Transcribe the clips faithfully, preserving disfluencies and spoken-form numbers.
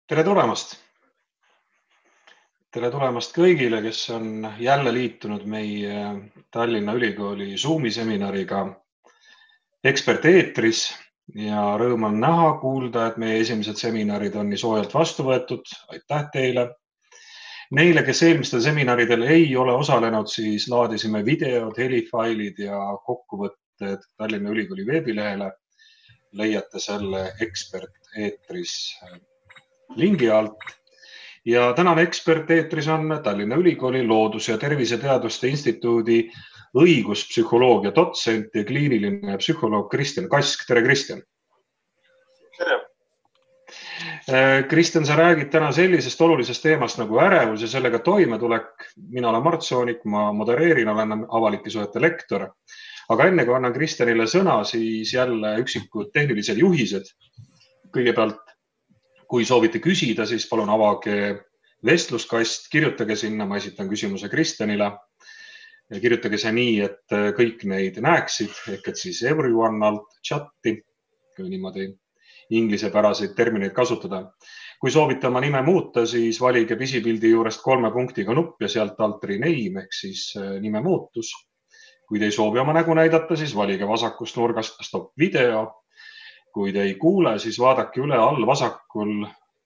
Tere tulemast! Tere tulemast kõigile, kes on jälle liitunud meie Tallinna Ülikooli Zoomi seminariga Ekspert eetris ja rõõm on näha, kuulda, et meie esimesed seminarid on nii soojalt vastu võetud. Aitäh teile! Neile, kes eelmistel seminaridel ei ole osalenud, siis laadisime videod, helifailid ja kokkuvõtted Tallinna Ülikooli veebilehele. Leiate selle Ekspert eetris lingi alt. Ja tänane Ekspert eetris on Tallinna Ülikooli Loodus- ja Terviseteaduste Instituudi õiguspsühholoogia dotsent ja kliiniline psühholoog Kristjan Kask. Tere, Kristjan! Tere! Kristjan, sa räägid täna sellisest olulisest teemast nagu ärevus ja sellega toimetulek. Mina olen Mart Soonik, ma modereerin, olen avalike suhete lektor. Aga enne kui annan Kristjanile sõna, siis jälle üksikud tehnilised juhised. Kõigepealt, kui soovite küsida, siis palun avage vestluskast, kirjutage sinna, ma esitan küsimuse Kristjanile. Kirjutage see nii, et kõik neid näeksid, ehk et siis everyone alt chatti, kui niimoodi inglisepäraseid termineid kasutada. Kui soovite oma nime muuta, siis valige pisipildi juurest kolme punktiga nupp ja sealt alt rename ehk siis nime muutus. Kui te ei soovi oma nägu näidata, siis valige vasakust nurgast stop video. Kui te ei kuule, siis vaadake üle all vasakul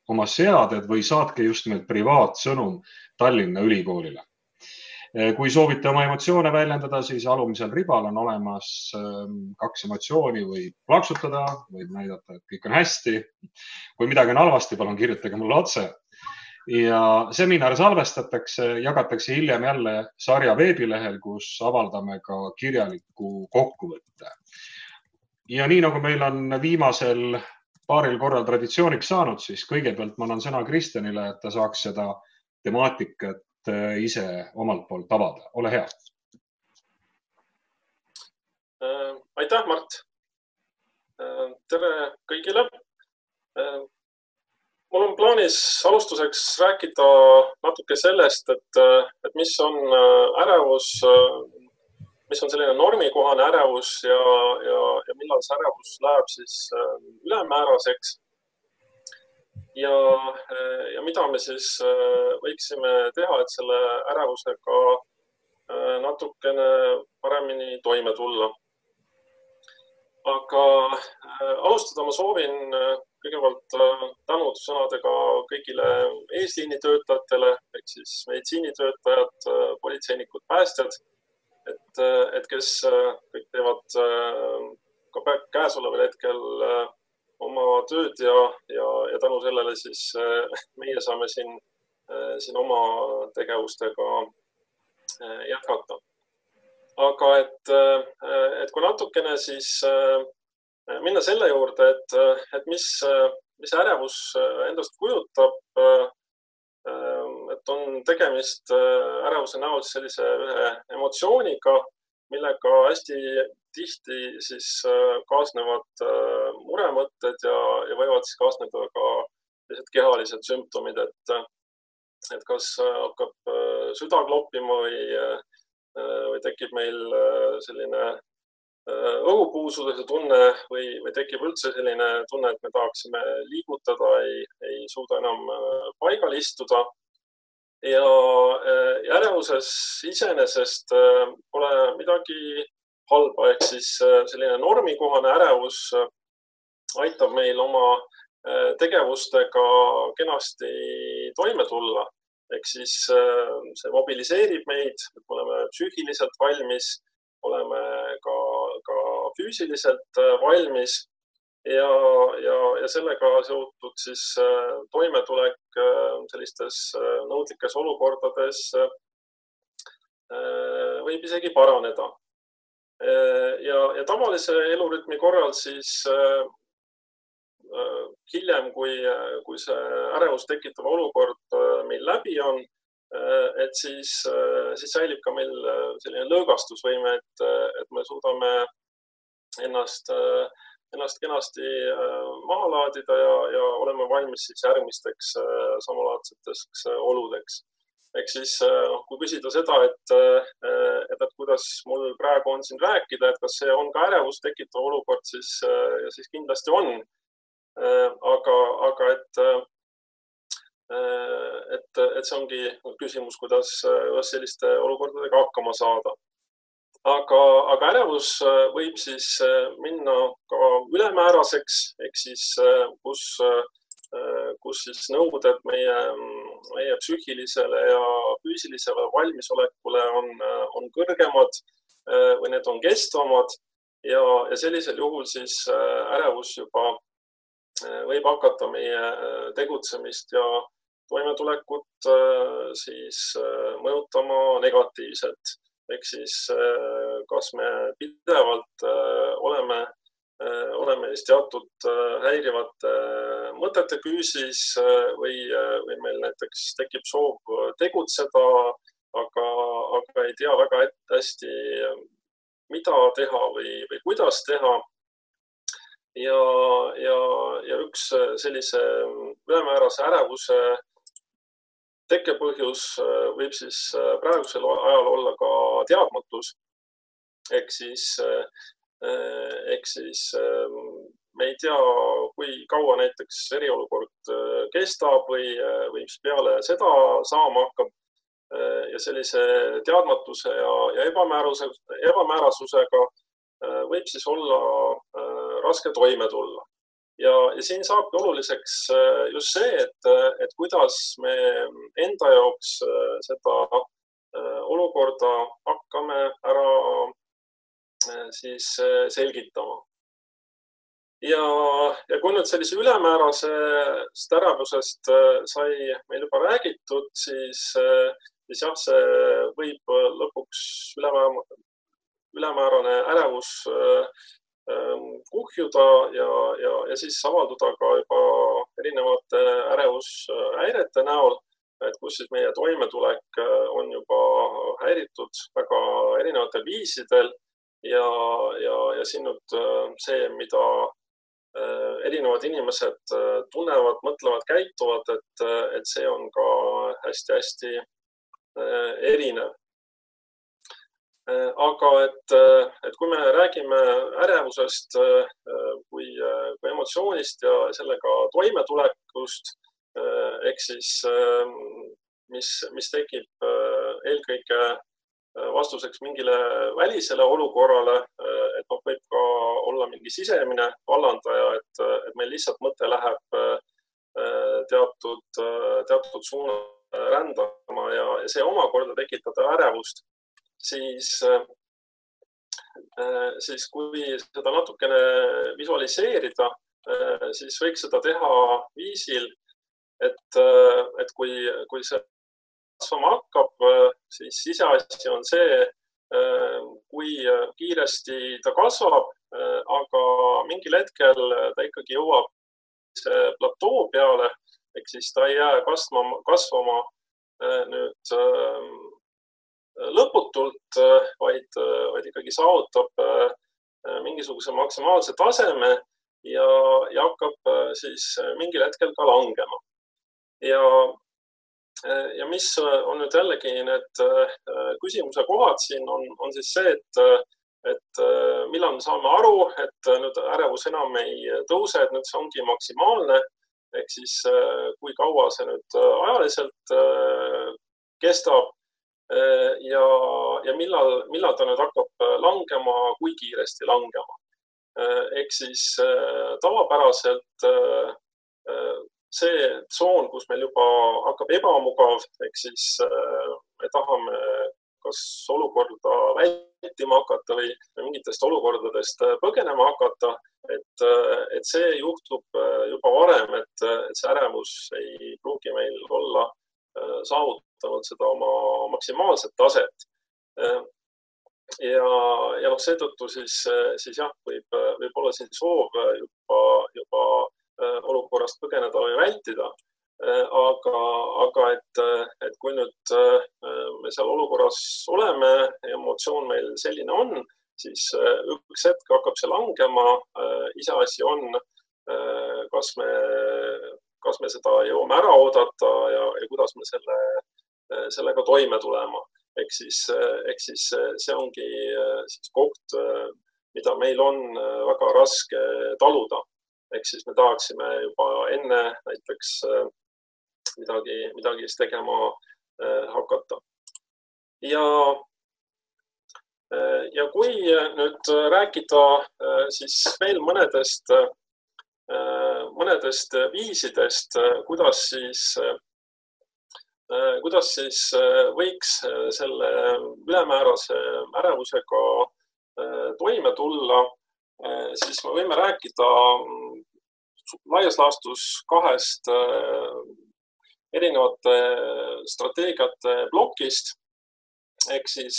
oma seaded või saatke just nimelt privaatsõnum Tallinna Ülikoolile. Kui soovite oma emotsioone väljendada, siis alumisel ribal on olemas kaks emotsiooni, võib plaksutada, võib näidata, et kõik on hästi. Kui midagi on halvasti, palun kirjutage mulle otse. Ja seminar salvestatakse, jagatakse hiljem jälle sarja veebilehel, kus avaldame ka kirjaliku kokkuvõtte. Ja nii nagu meil on viimasel paaril korral traditsiooniks saanud, siis kõigepealt ma annan sõna Kristjanile, et ta saaks seda temaatikat ise omalt poolt avada. Ole hea. Aitäh, Mart. Tere kõigile. Mul on plaanis alustuseks rääkida natuke sellest, et, et mis on ärevus, mis on selline normikohane ärevus ja, ja, ja millal see ärevus läheb siis ülemääraseks. Ja, ja mida me siis võiksime teha, et selle ärevusega natukene paremini toime tulla. Aga alustada ma soovin kõigepealt tänusõnadega kõigile eesliinitöötajatele, ehk siis meditsiinitöötajad, politseinikud, päästjad, et, et kes kõik teevad ka käesoleval hetkel oma tööd ja, ja, ja tänu sellele siis meie saame siin, siin oma tegevustega jätkata. Aga et, et kui natukene siis minna selle juurde, et, et mis, mis ärevus endast kujutab, et on tegemist ärevuse näol sellise ühe emotsiooniga, millega hästi tihti siis kaasnevad muremõtted ja, ja võivad siis kaasneda ka kehalised sümptomid, et, et kas hakkab süda kloppima või, või tekib meil selline õhupuusuduse tunne või, või tekib üldse selline tunne, et me tahaksime liigutada, ei, ei suuda enam paigal istuda. Ja ärevuses iseenesest pole midagi halba, ehk siis selline normikohane ärevus aitab meil oma tegevustega kenasti toime tulla. Ehk siis see mobiliseerib meid, et me oleme psüühiliselt valmis, oleme ka, ka füüsiliselt valmis. Ja, ja, ja sellega seotud siis toimetulek sellistes nõudlikes olukordades võib isegi paraneda. Ja, ja tavalise elurütmi korral siis hiljem, kui, kui see ärevus tekitav olukord meil läbi on, et siis, siis säilib ka meil selline lõõgastusvõime, et, et me suudame ennast ennast kenasti maha laadida ja, ja oleme valmis siis järgmisteks samalaadseteks oludeks. Ehk siis, noh, kui küsida seda, et, et, et kuidas mul praegu on siin rääkida, et kas see on ka ärevust tekitav olukord, siis, siis kindlasti on. Aga, aga et, et, et see ongi küsimus, kuidas, kuidas selliste olukordadega hakkama saada. Aga, aga ärevus võib siis minna ka ülemääraseks, ehk siis kus, kus siis nõuded meie, meie psüühilisele ja füüsilisele valmisolekule on, on kõrgemad või need on kestvamad ja, ja sellisel juhul siis ärevus juba võib hakata meie tegutsemist ja toimetulekut siis mõjutama negatiivselt. Ehk siis kas me pidevalt oleme, oleme teatud häirivate mõtete küüsis või, või meil näiteks tekib soov tegutseda, aga, aga ei tea väga hästi, mida teha või, või kuidas teha. Ja, ja, ja üks sellise ülemäärase ärevuse tekkepõhjus võib siis praegusel ajal olla ka teadmatus. Ehk siis, ehk siis me ei tea, kui kaua näiteks eriolukord kestab või, või mis peale seda saama hakkab. Ja sellise teadmatuse ja, ja ebamääruse, ebamäärasusega võib siis olla raske toime tulla. Ja, ja siin saabki oluliseks just see, et, et kuidas me enda jaoks seda olukorda hakkame ära siis selgitama. Ja, ja kui nüüd sellise ülemäärasest ärevusest sai meil juba räägitud, siis, siis jah, see võib lõpuks ülemäärane, ülemäärane ärevus kuhjuda ja, ja, ja siis avalduda ka juba erinevate ärevushäirete näol, et kus siis meie toimetulek on juba häiritud väga erinevatel viisidel ja, ja, ja siin nüüd see, mida erinevad inimesed tunnevad, mõtlevad, käituvad, et, et see on ka hästi-hästi erinev. Aga et, et kui me räägime ärevusest kui, kui emotsioonist ja sellega toimetulekust, ehk siis mis, mis tekib eelkõige vastuseks mingile välisele olukorrale, et noh, võib ka olla mingi sisemine vallandaja, et, et meil lihtsalt mõte läheb teatud, teatud suuna rändama ja, ja see omakorda tekitada ärevust. Siis, siis kui seda natukene visualiseerida, siis võiks seda teha viisil, et, et kui, kui see kasvama hakkab, siis siseasi on see, kui kiiresti ta kasvab, aga mingil hetkel ta ikkagi jõuab platoo peale, ehk siis ta ei jää kasvama, kasvama nüüd lõputult, vaid, vaid ikkagi saavutab mingisuguse maksimaalse taseme ja, ja hakkab siis mingil hetkel ka langema. Ja, ja mis on nüüd jällegi need küsimuse kohad siin on, on siis see, et, et millal me saame aru, et nüüd ärevus enam ei tõuse, et nüüd see ongi maksimaalne, ehk siis kui kaua see nüüd ajaliselt kestab. Ja, ja millal, millal ta nüüd hakkab langema, kui kiiresti langema. Ehk siis tavapäraselt see tsoon, kus meil juba hakkab ebamugav, ehk siis me tahame kas olukorda vältima hakata või mingitest olukordadest põgenema hakata, et, et see juhtub juba varem, et, et see ärevus ei pruugi meil olla saavutanud seda oma maksimaalset taset. Ja, ja noh, seetõttu siis, siis jah, võib, võib olla siin soov juba, juba olukorrast põgeneda või vältida. Aga, aga et, et kui nüüd me seal olukorras oleme, emotsioon meil selline on, siis üks hetk hakkab see langema, iseasi on, kas me kas me seda jõuame ära oodata ja, ja kuidas me selle, sellega toime tulema. Ehk siis, ehk siis see ongi siis koht, mida meil on väga raske taluda. Ehk siis me tahaksime juba enne näiteks midagi, midagi siis tegema hakata. Ja, ja kui nüüd rääkida siis veel mõnedest, mõnedest viisidest, kuidas siis, kuidas siis võiks selle ülemäärase ärevusega toime tulla, siis me võime rääkida laias laastus kahest erinevate strateegiate plokist. Ehk siis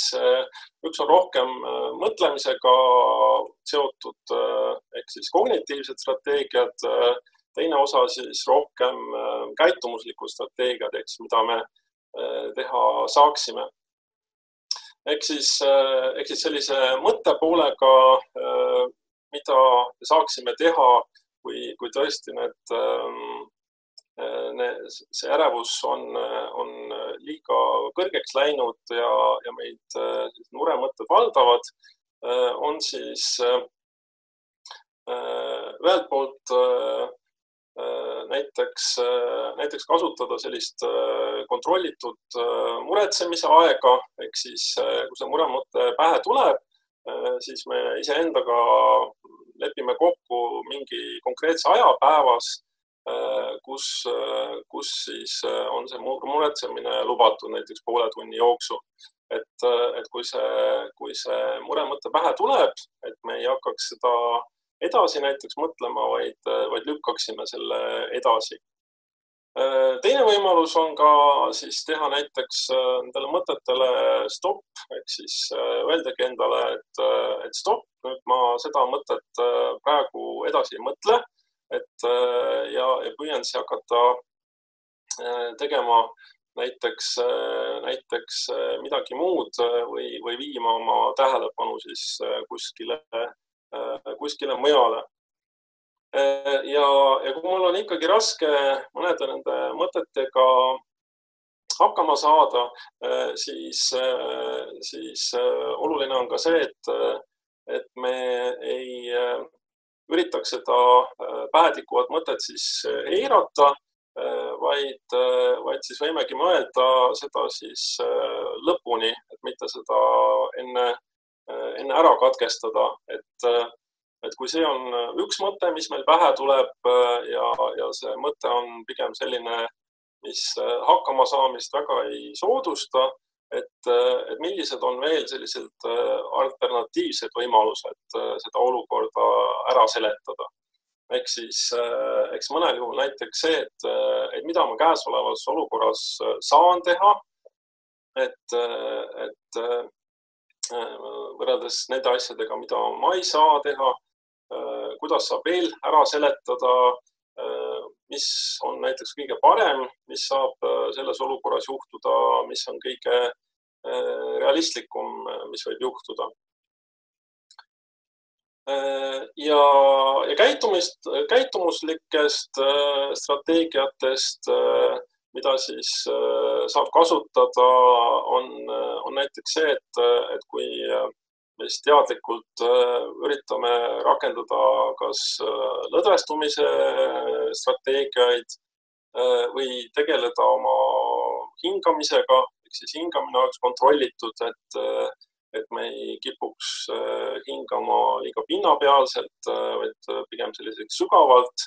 üks on rohkem mõtlemisega seotud, ehk siis kognitiivsed strateegiad, teine osa siis rohkem käitumuslikud strateegiad, ehk siis mida me teha saaksime. Ehk siis, ehk siis sellise mõttepoolega, mida saaksime teha, kui, kui tõesti need, need, see ärevus on, on liiga kõrgeks läinud ja, ja meid muremõtted valdavad, on siis ühelt poolt näiteks, näiteks kasutada sellist kontrollitud muretsemise aega, ehk siis kui see muremõte pähe tuleb, siis me iseendaga lepime kokku mingi konkreetse aja päevas, kus, kus siis on see muretsemine lubatud näiteks poole tunni jooksul. Et, et kui see, kui see muremõte pähe tuleb, et me ei hakkaks seda edasi näiteks mõtlema, vaid, vaid lükkaksime selle edasi. Teine võimalus on ka siis teha näiteks nendele mõtetele stopp, ehk siis öeldagi endale, et, et stopp, nüüd ma seda mõtet praegu edasi ei mõtle, et ja, ja püüan siis hakata tegema näiteks, näiteks midagi muud või, või viima oma tähelepanu siis kuskile, kuskile mujale. Ja, ja kui mul on ikkagi raske mõnede nende mõtetega hakkama saada, siis, siis oluline on ka see, et, et me ei üritaks seda pähetikuvat mõtet siis eirata, vaid, vaid siis võimegi mõelda seda siis lõpuni, et mitte seda enne, enne ära katkestada, et Et kui see on üks mõte, mis meil pähe tuleb ja, ja see mõte on pigem selline, mis hakkama saamist väga ei soodusta, et, et millised on veel sellised alternatiivsed võimalused seda olukorda ära seletada. Ehk siis, eks mõnel juhul näiteks see, et, et mida ma käesolevas olukorras saan teha, et, et võrreldes nende asjadega, mida ma ei saa teha, kuidas saab veel ära seletada, mis on näiteks kõige parem, mis saab selles olukorras juhtuda, mis on kõige realistlikum, mis võib juhtuda. Ja, ja käitumist, käitumuslikest strateegiatest, mida siis saab kasutada, on, on näiteks see, et, et kui mis teadlikult üritame rakendada kas lõdvestumise strateegiaid või tegeleda oma hingamisega, ehk siis hingamine oleks kontrollitud, et, et me ei kipuks hingama liiga pinnapealselt, vaid pigem selliseks sügavalt,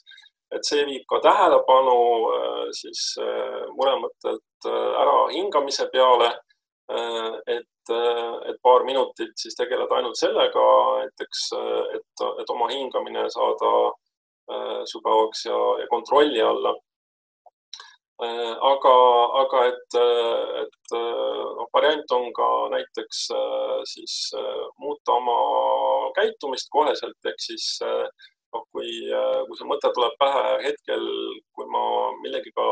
et see viib ka tähelepanu siis muremõttelt ära hingamise peale, et, et paar minutit siis tegeleda ainult sellega, näiteks, et, et oma hingamine saada sügavaks ja, ja kontrolli alla. Aga, aga et, et no, variant on ka näiteks siis muuta oma käitumist koheselt, ehk siis no, kui, kui see mõte tuleb pähe hetkel, kui ma millegiga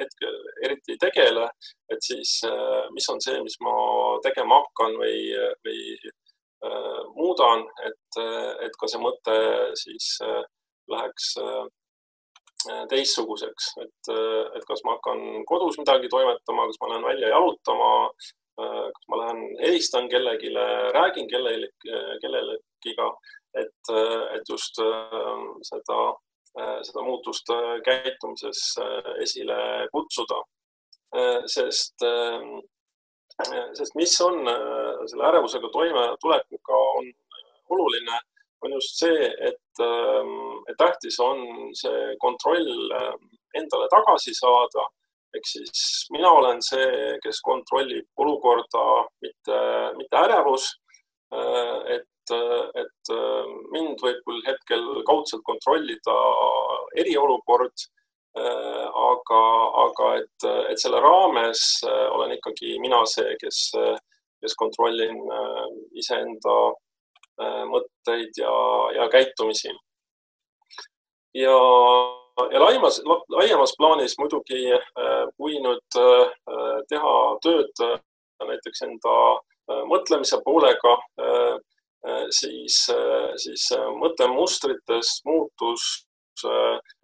hetkel eriti ei tegele, et siis mis on see, mis ma tegema hakkan või, või äh, muudan, et, et ka see mõte siis äh, läheks äh, teistsuguseks, et, et kas ma hakkan kodus midagi toimetama, kas ma lähen välja jalutama, kas ma lähen helistan kellegile, räägin kellelegi, kellelegiga, et, et just seda seda muutust käitumises esile kutsuda. Sest, sest mis on selle ärevusega toime tulekuga on oluline, on just see, et, et tähtis on see kontroll endale tagasi saada. Ehk siis mina olen see, kes kontrollib olukorda, mitte, mitte ärevus. Et, et mind võib küll hetkel kaudselt kontrollida eriolukord, aga, aga et, et selle raames olen ikkagi mina see, kes, kes kontrollin iseenda mõtteid ja, ja käitumisi. Ja, ja laimas, laiemas plaanis muidugi, kui nüüd teha tööd näiteks enda mõtlemise poolega, siis, siis mõttemustrites muutus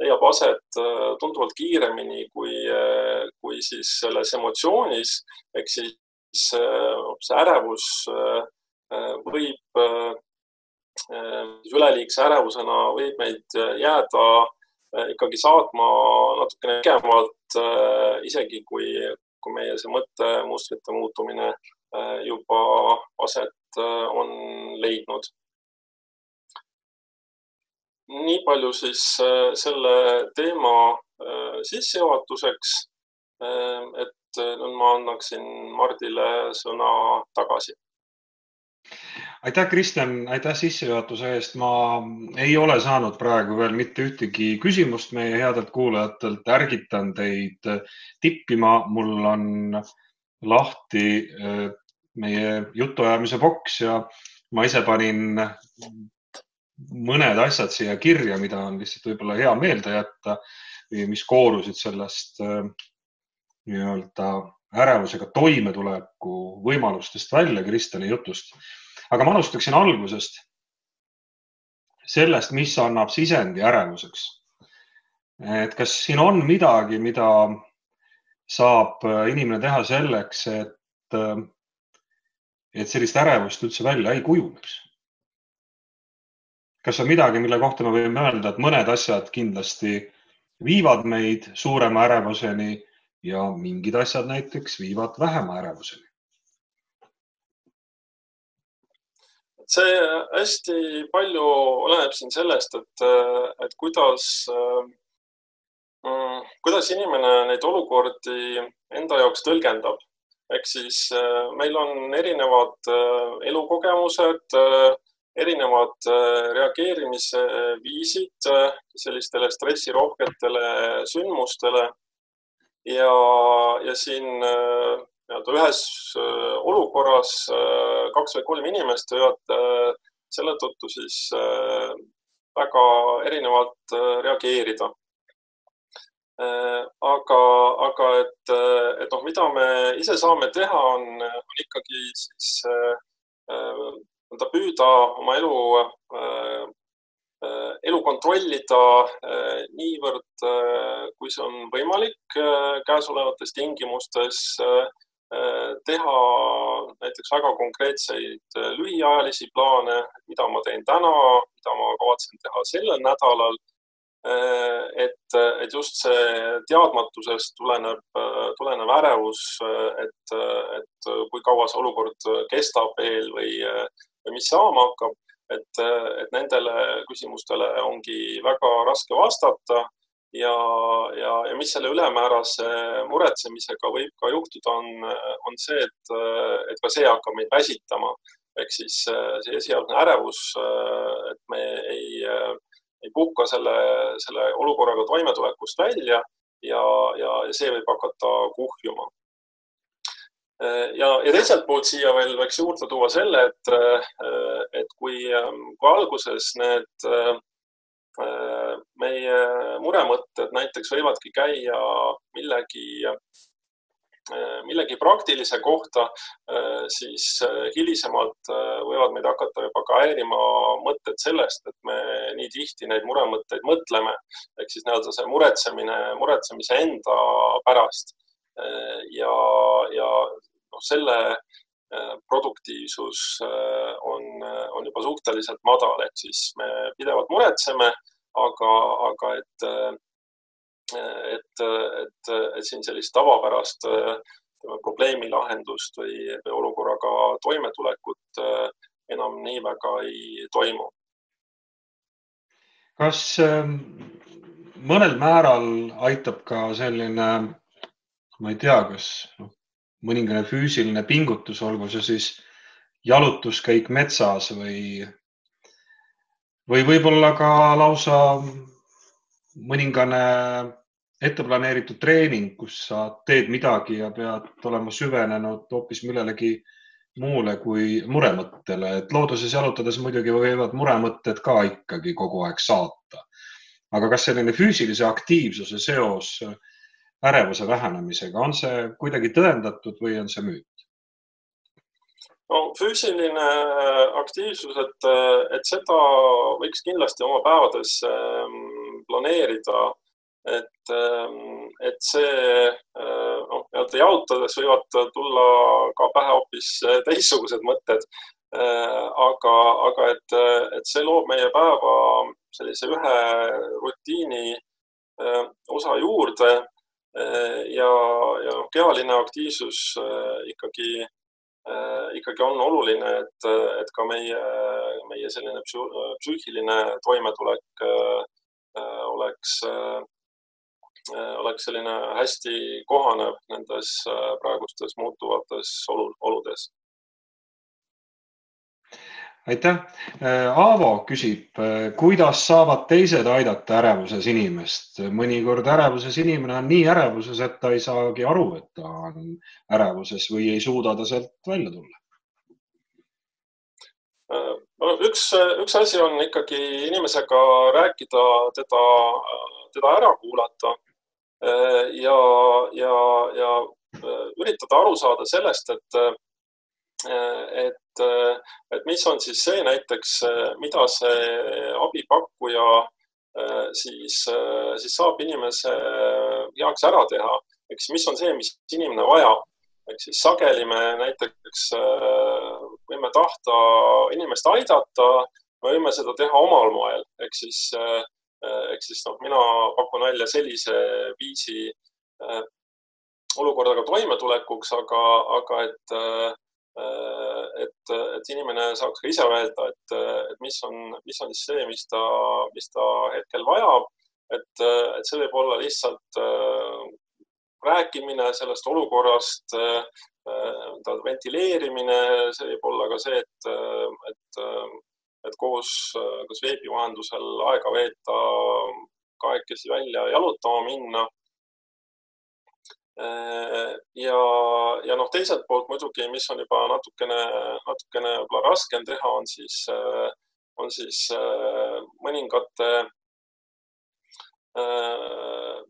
leiab aset tunduvalt kiiremini kui, kui siis selles emotsioonis. Ehk siis see ärevus võib, üleliigse ärevusena võib meid jääda ikkagi saatma natukene pikemalt, isegi kui, kui meie see mõttemustrite muutumine juba aset on leidnud. Nii palju siis selle teema sissejuhatuseks, et nüüd ma annaksin Mardile sõna tagasi. Aitäh, Kristjan, aitäh sissejuhatuse eest. Ma ei ole saanud praegu veel mitte ühtegi küsimust meie headelt kuulajatelt. Ärgitan teid tippima. Mul on lahti meie jutuajamise boks ja ma ise panin mõned asjad siia kirja, mida on lihtsalt võib-olla hea meelde jätta, mis koorusid sellest nii-öelda ärevusega toimetuleku võimalustest välja Kristjani jutust. Aga ma alustaksin algusest sellest, mis annab sisendi ärevuseks. Et kas siin on midagi, mida saab inimene teha selleks, et, et sellist ärevust üldse välja ei kujuneks? Kas on midagi, mille kohta me võime öelda, et mõned asjad kindlasti viivad meid suurema ärevuseni ja mingid asjad näiteks viivad vähema ärevuseni? See hästi palju oleneb siin sellest, et, et kuidas, kuidas inimene neid olukordi enda jaoks tõlgendab. Ehk siis meil on erinevad elukogemused, erinevad reageerimisviisid sellistele stressirohketele sündmustele ja, ja siin ühes olukorras kaks või kolm inimest võivad selle tõttu siis väga erinevalt reageerida. Aga, aga et, et noh, mida me ise saame teha, on, on ikkagi siis püüda oma elu, elu kontrollida niivõrd, kui see on võimalik käesolevates tingimustes, teha näiteks väga konkreetseid lühiajalisi plaane, mida ma teen täna, mida ma kavatsen teha sellel nädalal, et, et just see teadmatusest tuleneb, tulenev ärevus, et, et kui kaua see olukord kestab veel või, või mis saama hakkab, et, et nendele küsimustele ongi väga raske vastata. Ja, ja, ja mis selle ülemäärase muretsemisega võib ka juhtuda, on, on see, et, et ka see hakkab meid väsitama. Ehk siis see esialgne ärevus, et me ei, ei puhka selle, selle olukorraga toimetulekust välja ja, ja see võib hakata kuhjuma. Ja, ja teiselt poolt siia veel võiks juurde tuua selle, et, et kui, kui alguses need meie muremõtted näiteks võivadki käia millegi, millegi praktilise kohta, siis hilisemalt võivad meid hakata juba ka häirima mõtted sellest, et me nii tihti neid muremõtteid mõtleme. Ehk siis näelda see muretsemine, muretsemise enda pärast. Ja, ja no, selle produktiivsus on, on juba suhteliselt madal, et siis me pidevalt muretseme, aga, aga et, et, et, et siin sellist tavapärast probleemi lahendust või, või olukorraga toimetulekut enam nii väga ei toimu. Kas mõnel määral aitab ka selline, ma ei tea, kas no, mõningane füüsiline pingutus, olgu see siis jalutuskäik metsas või, või võib-olla ka lausa mõningane etteplaneeritud treening, kus sa teed midagi ja pead olema süvenenud hoopis millelegi muule kui muremõttele, et looduses jalutades muidugi võivad muremõtted ka ikkagi kogu aeg saata. Aga kas selline füüsilise aktiivsuse seos ärevuse vähenemisega, on see kuidagi tõendatud või on see müüt? No, füüsiline aktiivsus, et, et seda võiks kindlasti oma päevades planeerida, et, et see no, jalutades võivad tulla ka pähe hoopis teistsugused mõtted, aga, aga et, et see loob meie päeva sellise ühe rutiini osa juurde ja, ja kehaline aktiivsus ikkagi ikkagi on oluline, et, et ka meie, meie selline psüühiline toimetulek oleks, oleks selline hästi kohanev nendes praegustes muutuvates oludes. Aitäh! Aavo küsib, kuidas saavad teised aidata ärevuses inimest? Mõnikord ärevuses inimene on nii ärevuses, et ta ei saagi aru, et ta on ärevuses või ei suuda ta sealt välja tulla. Üks, üks asi on ikkagi inimesega rääkida, teda, teda ära kuulata ja, ja, ja üritada aru saada sellest, et Et, et mis on siis see näiteks, mida see abipakkuja siis, siis saab inimese heaks ära teha, eks mis on see, mis inimene vajab. Ehk siis sageli me näiteks võime tahta inimest aidata, me võime seda teha omal moel. Ehk siis, ehk siis no, mina pakun välja sellise viisi olukordaga toimetulekuks, aga, aga et Et, et inimene saaks ka ise öelda, et, et mis on, mis on siis see, mis ta, mis ta hetkel vajab. Et, et see võib olla lihtsalt rääkimine sellest olukorrast, ventileerimine, see võib olla ka see, et, et, et koos kas veebi vahendusel aega veeta, kahekesi välja jalutama minna. Ja, ja noh, teiselt poolt muidugi, mis on juba natukene, natukene raskem teha, on siis, on siis mõningate,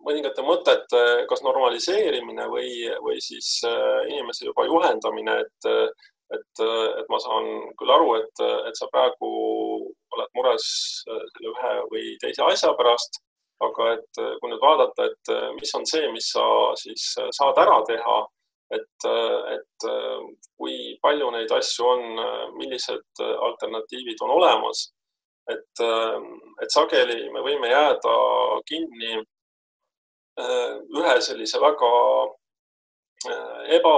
mõningate mõtete kas normaliseerimine või, või siis inimese juba juhendamine, et, et, et ma saan küll aru, et, et sa praegu oled mures selle ühe või teise asja pärast, aga et kui nüüd vaadata, et mis on see, mis sa siis saad ära teha, et, et kui palju neid asju on, millised alternatiivid on olemas, et, et sageli me võime jääda kinni ühe sellise väga eba,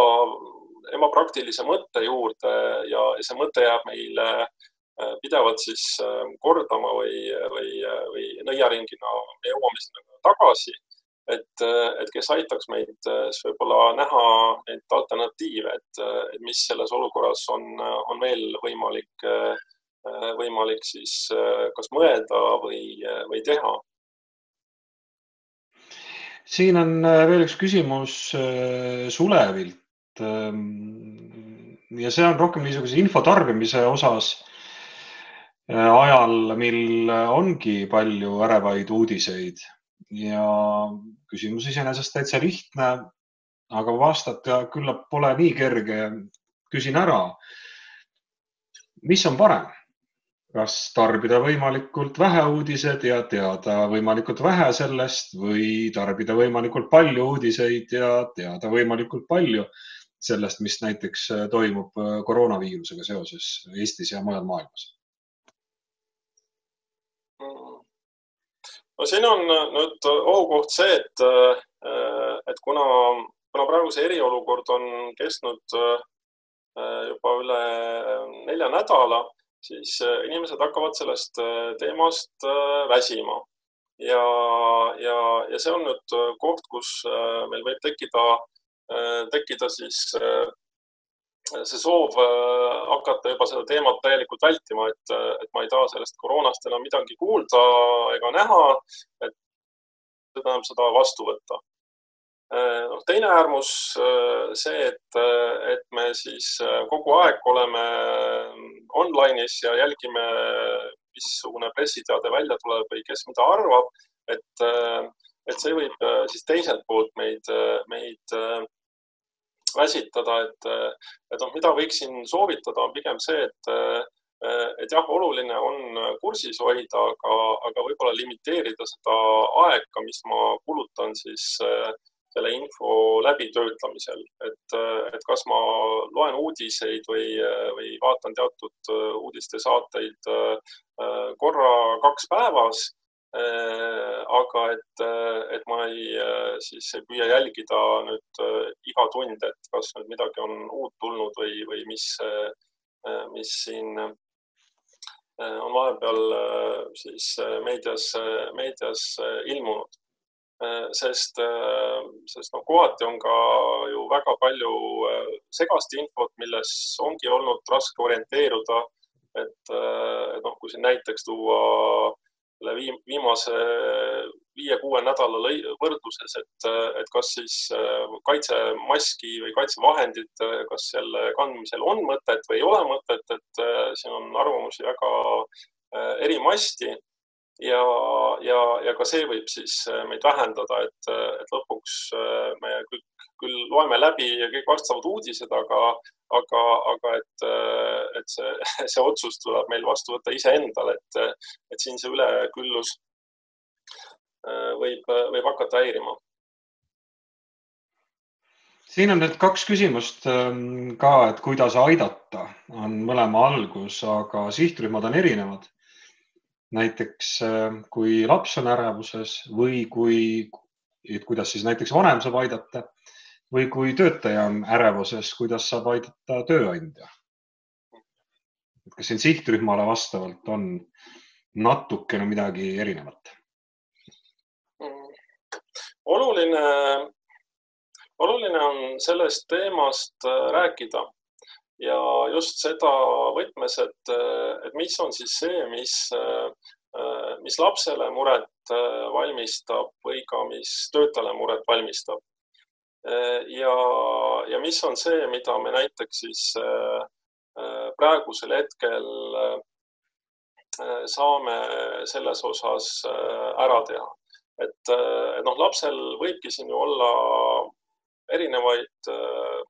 ebapraktilise mõtte juurde ja see mõte jääb meile pidevalt siis kordama või, või, või nõiaringina jõuame sinna tagasi, et, et kes aitaks meid võib-olla näha neid alternatiive, et, et mis selles olukorras on, on veel võimalik, võimalik siis kas mõelda või, või teha. Siin on veel üks küsimus Sulevilt ja see on rohkem niisuguse infotarbimise osas ajal, mil ongi palju ärevaid uudiseid ja küsimus iseenesest täitsa lihtne, aga vastata küllap pole nii kerge. Küsin ära, mis on parem? Kas tarbida võimalikult vähe uudised ja teada võimalikult vähe sellest või tarbida võimalikult palju uudiseid ja teada võimalikult palju sellest, mis näiteks toimub koroonaviirusega seoses Eestis ja mujal maailmas? No siin on nüüd ohukoht see, et, et kuna, kuna praegu see eriolukord on kestnud juba üle nelja nädala, siis inimesed hakkavad sellest teemast väsima. Ja, ja, ja see on nüüd koht, kus meil võib tekkida, tekkida siis see soov hakata juba seda teemat täielikult vältima, et, et ma ei taha sellest koroonast enam midagi kuulda ega näha, et enam seda vastu võtta. No, teine äärmus see, et, et me siis kogu aeg oleme online'is ja jälgime, missugune pressiteade välja tuleb või kes mida arvab, et, et see võib siis teiselt poolt meid, meid väsitada, et, et noh, mida võiksin soovitada on pigem see, et, et jah, oluline on kursis hoida, aga, aga võib-olla limiteerida seda aega, mis ma kulutan siis selle info läbitöötamisel, et, et kas ma loen uudiseid või, või vaatan teatud uudistesaateid korra kaks päevas, aga et, et ma ei, siis ei püüa jälgida nüüd iga tund, et kas nüüd midagi on uut tulnud või, või mis, mis siin on vahepeal siis meedias, meedias ilmunud. Sest, sest no, kohati on ka ju väga palju segast infot, milles ongi olnud raske orienteeruda, et, et noh, kui siin näiteks tuua viimase viie-kuue nädala võrdluses, et, et kas siis kaitsemaski või kaitsevahendid, kas selle kandmisel on mõtet või ei ole mõtet, et siin on arvamusi väga erimasti ja, ja, ja ka see võib siis meid vähendada, et, et lõpuks me kõik küll loeme läbi ja kõik vastavad uudised, aga, aga, aga et, et see, see otsus tuleb meil vastu võtta ise endal, et, et siin see üleküllus võib, võib hakata häirima. Siin on nüüd kaks küsimust ka, et kuidas aidata on mõlema algus, aga sihtrühmad on erinevad. Näiteks kui laps on ärevuses või kui, et kuidas siis näiteks vanem saab aidata või kui töötaja on ärevuses, kuidas saab aidata tööandja. Kas siin sihtrühmale vastavalt on natukene midagi erinevat? Oluline, oluline on sellest teemast rääkida ja just seda võtmes, et, et mis on siis see, mis, mis lapsele muret valmistab või ka mis töötajale muret valmistab. Ja, ja mis on see, mida me näiteks siis praegusel hetkel saame selles osas ära teha. Et, et noh, lapsel võibki siin ju olla erinevaid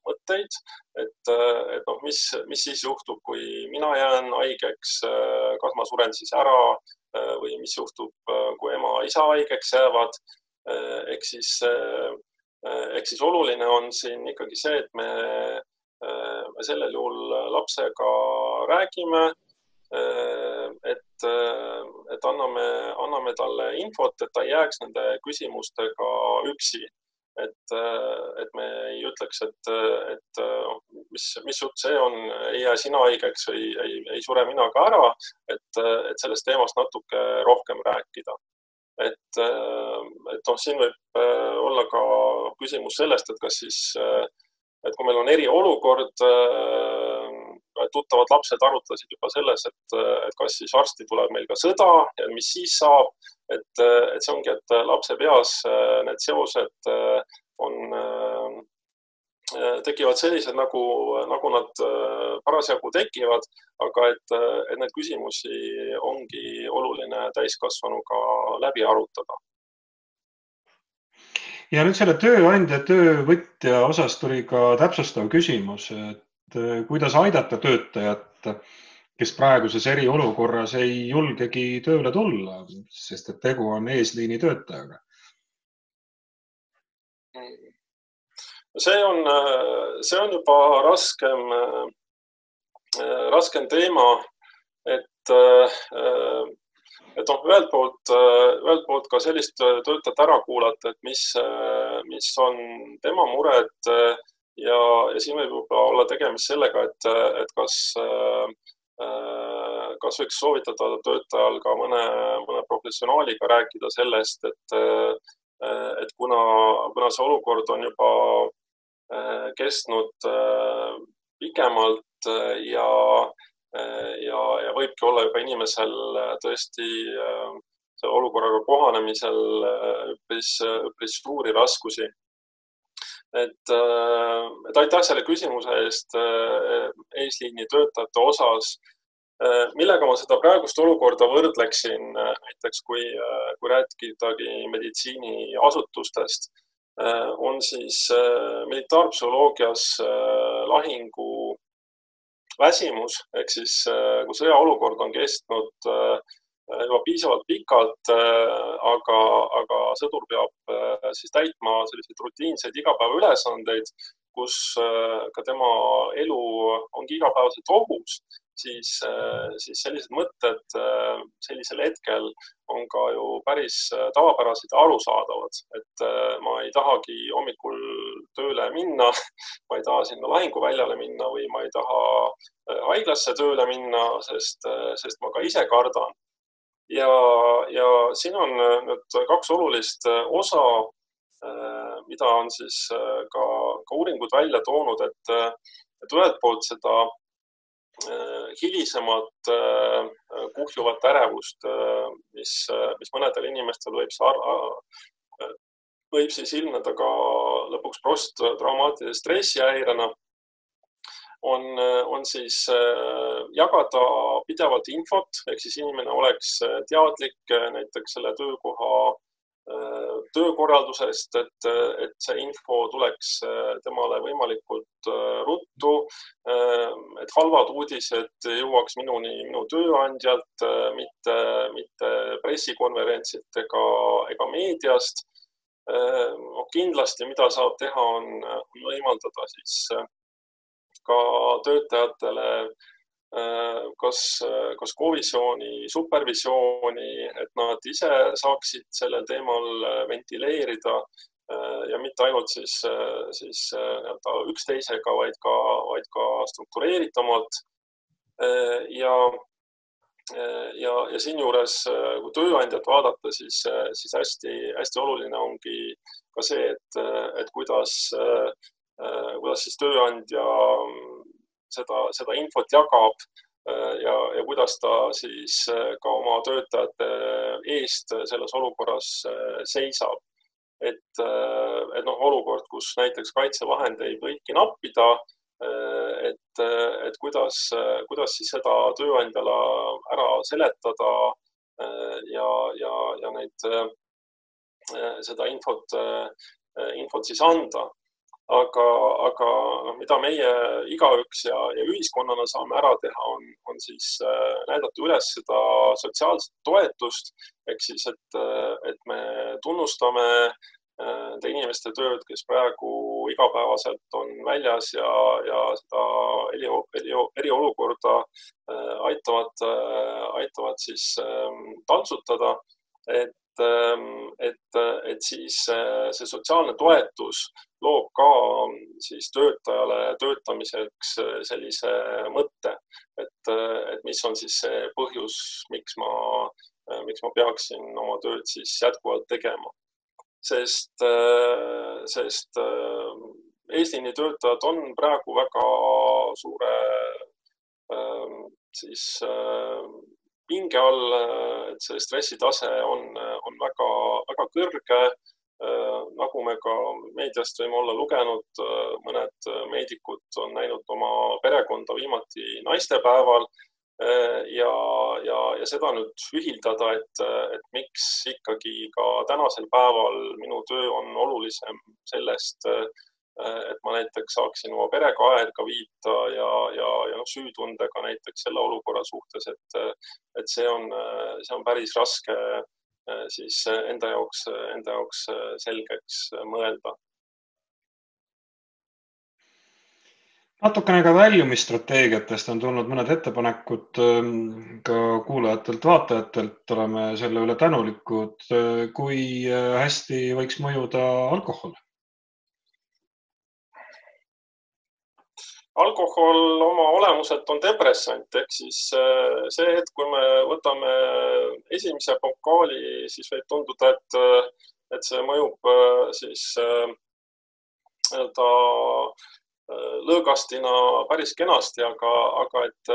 mõtteid, et, et noh, mis, mis siis juhtub, kui mina jään haigeks, kas ma suren siis ära või mis juhtub, kui ema ja isa haigeks jäävad. Ehk siis Ehk siis oluline on siin ikkagi see, et me, me sellel juhul lapsega räägime, et, et anname, anname talle infot, et ta ei jääks nende küsimustega üksi. Et, et me ei ütleks, et, et mis, mis jutt see on, ei jää sina haigeks või ei, ei sure mina ka ära, et, et sellest teemast natuke rohkem rääkida. Et, et noh, siin võib olla ka küsimus sellest, et kas siis, et kui meil on eriolukord, tuttavad lapsed arutlesid juba selles, et, et kas siis varsti tuleb meil ka sõda ja mis siis saab, et, et see ongi, et lapse peas need seosed on, tekivad sellised, nagu, nagu nad parasjagu tekivad, aga et, et need küsimusi ongi oluline täiskasvanuga läbi arutada. Ja nüüd selle tööandja, töövõtja osas tuli ka täpsustav küsimus, et kuidas aidata töötajat, kes praeguses eriolukorras ei julgegi tööle tulla, sest et tegu on eesliini töötajaga. See on, see on juba raskem, raskem teema, et, et noh, ühelt poolt, ühelt poolt ka sellist töötajat ära kuulata, et mis, mis on tema mured ja, ja siin võib juba olla tegemist sellega, et, et kas, kas võiks soovitada töötajal ka mõne, mõne professionaaliga rääkida sellest, et, et kuna, kuna see olukord on juba kestnud pikemalt ja Ja, ja võibki olla juba inimesel tõesti selle olukorraga kohanemisel üpris, üpris suuri raskusi. Et, et aitäh selle küsimuse eest eesliini töötajate osas. Millega ma seda praegust olukorda võrdleksin, näiteks kui, kui rääkidagi meditsiiniasutustest, on siis militaarpsühholoogias lahingu väsimus, ehk siis kui sõjaolukord on kestnud juba piisavalt pikalt, aga, aga sõdur peab siis täitma selliseid rutiinseid igapäevaülesandeid, kus ka tema elu ongi igapäevaselt ohus, siis, siis sellised mõtted sellisel hetkel on ka ju päris tavapärased ja arusaadavad, et ma ei tahagi hommikul tööle minna, ma ei taha sinna lahinguväljale minna või ma ei taha haiglasse tööle minna, sest, sest ma ka ise kardan. Ja, ja siin on nüüd kaks olulist osa, mida on siis ka, ka uuringud välja toonud, et, et ühelt poolt seda hilisemat kuhjuvat ärevust, mis, mis mõnedel inimestel võib, sar- võib siis ilmneda ka lõpuks posttraumaatilise stressihäirena, on, on siis jagada pidevalt infot, ehk siis inimene oleks teadlik näiteks selle töökoha töökorraldusest, et, et see info tuleks temale võimalikult ruttu, et halvad uudised jõuaks minuni minu tööandjalt, mitte, mitte pressikonverentsilt ega, ega meediast. Kindlasti, mida saab teha, on võimaldada siis ka töötajatele kas, kas kovisiooni, supervisiooni, et nad ise saaksid sellel teemal ventileerida ja mitte ainult siis, siis üksteisega, vaid ka, vaid ka struktureeritamalt. Ja, ja, ja siin juures, kui tööandjat vaadata, siis, siis hästi, hästi oluline ongi ka see, et, et kuidas, kuidas siis tööandja Seda, seda infot jagab ja, ja kuidas ta siis ka oma töötajate eest selles olukorras seisab. Et, et noh, olukord, kus näiteks kaitsevahendeid võibki nappida, et, et kuidas, kuidas siis seda tööandjale ära seletada ja, ja, ja neid, seda infot, infot siis anda. Aga, aga mida meie igaüks ja, ja ühiskonnana saame ära teha, on, on siis näidata üles seda sotsiaalset toetust, ehk siis, et, et me tunnustame nende inimeste tööd, kes praegu igapäevaselt on väljas ja, ja seda eri, eri, eriolukorda aitavad, aitavad siis taltsutada, et Et, et siis see sotsiaalne toetus loob ka siis töötajale töötamiseks sellise mõtte, et, et mis on siis see põhjus, miks ma, miks ma peaksin oma tööd siis jätkuvalt tegema. Sest, sest eesliini töötajad on praegu väga suure siis pinge all, et see stressitase on, on väga, väga kõrge. Nagu me ka meediast võime olla lugenud, mõned meedikud on näinud oma perekonda viimati naistepäeval ja, ja, ja seda nüüd ühildada, et, et miks ikkagi ka tänasel päeval minu töö on olulisem sellest, et ma näiteks saaksin oma perega aega viita ja, ja, ja süütundega näiteks selle olukorra suhtes, et, et see on, see on päris raske siis enda jaoks, enda jaoks selgeks mõelda. Natukene ka väljumisstrateegiatest on tulnud mõned ettepanekud ka kuulajatelt, vaatajatelt, oleme selle üle tänulikud. Kui hästi võiks mõjuda alkohol? Alkohol oma olemuselt on depressant, ehk siis see hetk, kui me võtame esimese pokaali, siis võib tunduda, et, et see mõjub siis ta lõõgastina päris kenasti, aga, aga et,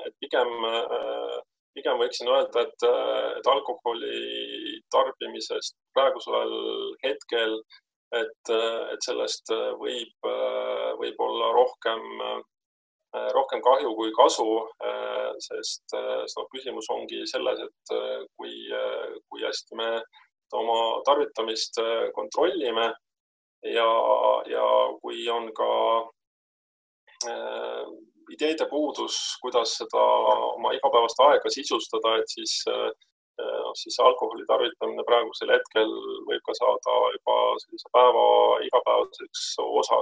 et pigem, pigem võiksin öelda, et, et alkoholi tarbimisest praegusel hetkel, et, et sellest võib, võib olla rohkem, rohkem kahju kui kasu, sest no, küsimus ongi selles, et kui, kui hästi me oma tarvitamist kontrollime ja, ja kui on ka ideede puudus, kuidas seda oma igapäevast aega sisustada, et siis, siis alkoholi tarvitamine praegusel hetkel võib ka saada juba sellise päeva igapäevaseks osa,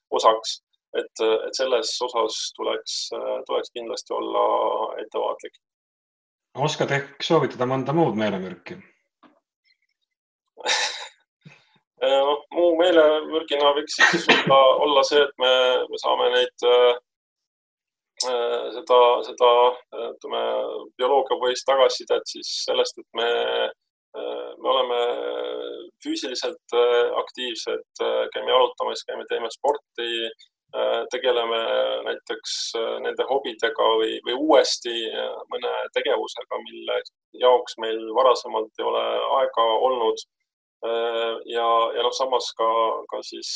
osaks, et, et selles osas tuleks, tuleks kindlasti olla ettevaatlik. Oskad ehk soovitada mõnda muud meelemürki? No, muu meelemürgina võiks siis olla, olla see, et me, me saame neid seda, seda ütleme, bioloogiapõhist tagasisidet siis sellest, et me, me oleme füüsiliselt aktiivsed, käime jalutamas, käime teeme sporti, tegeleme näiteks nende hobidega või, või uuesti mõne tegevusega, mille jaoks meil varasemalt ei ole aega olnud. Ja, ja noh, samas ka, ka siis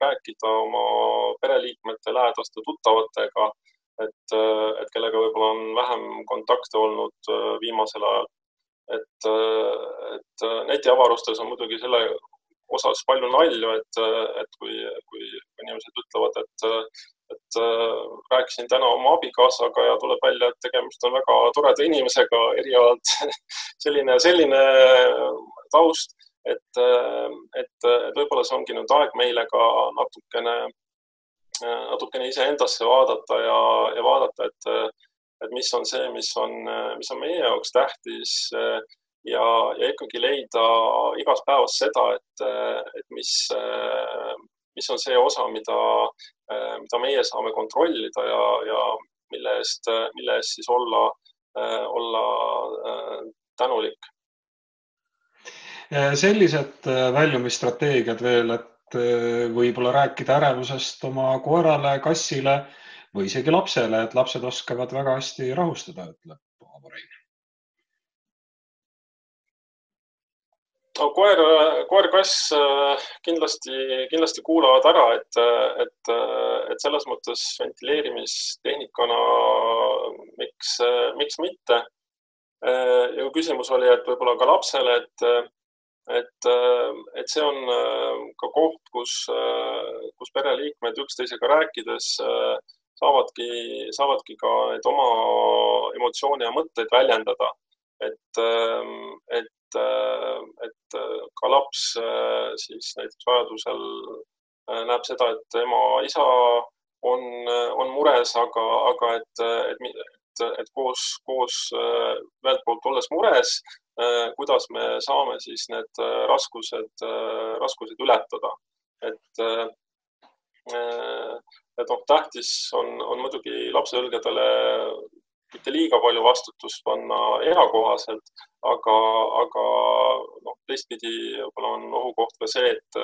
rääkida oma pereliikmete, lähedaste, tuttavatega, et, et kellega võib-olla on vähem kontakte olnud viimasel ajal. Et, et netiavarustes on muidugi selle osas palju nalju, et, et kui, kui inimesed ütlevad, et, et rääkisin täna oma abikaasaga ja tuleb välja, et tegemist on väga toreda inimesega erialalt. selline, selline taust. Et, et, et võib-olla see ongi nüüd aeg meile ka natukene, natukene ise endasse vaadata ja, ja vaadata, et, et mis on see, mis on, mis on meie jaoks tähtis ja, ja ikkagi leida igas päevas seda, et, et mis, mis on see osa, mida, mida meie saame kontrollida ja, ja mille eest, mille eest siis olla, olla tänulik. Sellised väljumisstrateegiad veel, et võib-olla rääkida ärevusest oma koerale, kassile või isegi lapsele, et lapsed oskavad väga hästi rahustada, ütleb Avorein. No, koer, koer, kass kindlasti, kindlasti kuulavad ära, et, et, et selles mõttes ventileerimistehnikana miks, miks mitte. Ja küsimus oli, et võib-olla ka lapsele, et Et, et see on ka koht, kus, kus pereliikmed üksteisega rääkides saavadki, saavadki ka neid oma emotsioone ja mõtteid väljendada. Et, et, et ka laps siis näiteks vajadusel näeb seda, et ema isa on, on mures, aga, aga et, et, et, et koos, koos ühelt poolt olles mures, kuidas me saame siis need raskused, raskused ületada. Et, et noh, tähtis on, on muidugi lapse õlgadele mitte liiga palju vastutust panna eakohaselt, aga, aga noh, teistpidi võib-olla on ohukoht ka see, et,